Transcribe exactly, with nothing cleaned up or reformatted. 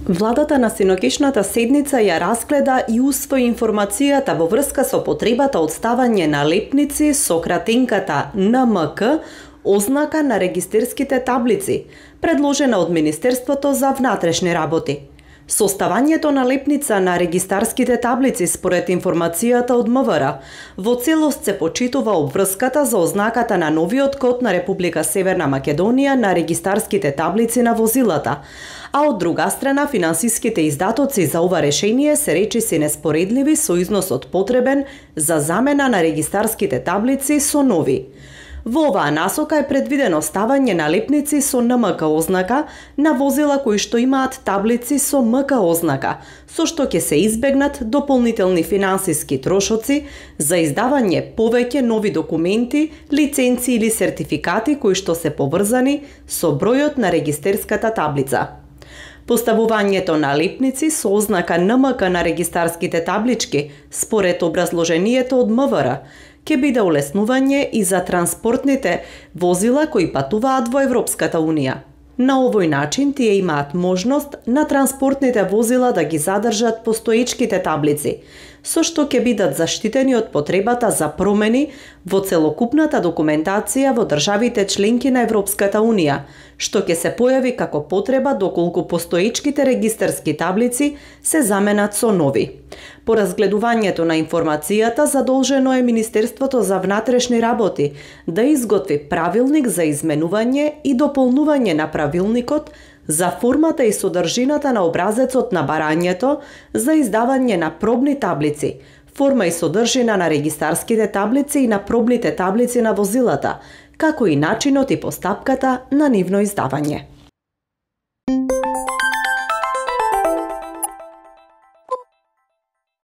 Владата на синокишната седница ја разгледа и усвои информацијата во врска со потребата од ставање на лепници со кратенката Н М К, ознака на регистерските таблици, предложена од Министерството за внатрешни работи. Составањето на лепница на регистарските таблици според информацијата од М В Р во целост се почитува обврската за ознаката на новиот код на Република Северна Македонија на регистарските таблици на возилата, а од друга страна финансиските издатоци за ова решение се речиси неспоредливи со износот потребен за замена на регистарските таблици со нови. Во оваа насока е предвидено ставање на лепници со Н М К ознака на возила кои што имаат таблици со М К ознака, со што ќе се избегнат дополнителни финансиски трошоци за издавање повеќе нови документи, лиценци или сертификати кои што се поврзани со бројот на регистерската таблица. Поставувањето на лепници со ознака Н М К на регистарските таблички, според образложението од М В Р, ќе биде улеснување и за транспортните возила кои патуваат во Европската Унија. На овој начин тие имаат можност на транспортните возила да ги задржат постоечките таблици, со што ќе бидат заштитени од потребата за промени во целокупната документација во државите членки на Европската Унија, што ќе се појави како потреба доколку постоечките регистарски таблици се заменат со нови. По разгледувањето на информацијата задолжено е Министерството за внатрешни работи да изготви правилник за изменување и дополнување на правилникот за формата и содржината на образецот на барањето за издавање на пробни таблици, форма и содржина на регистарските таблици и на пробните таблици на возилата, како и начинот и постапката на нивно издавање.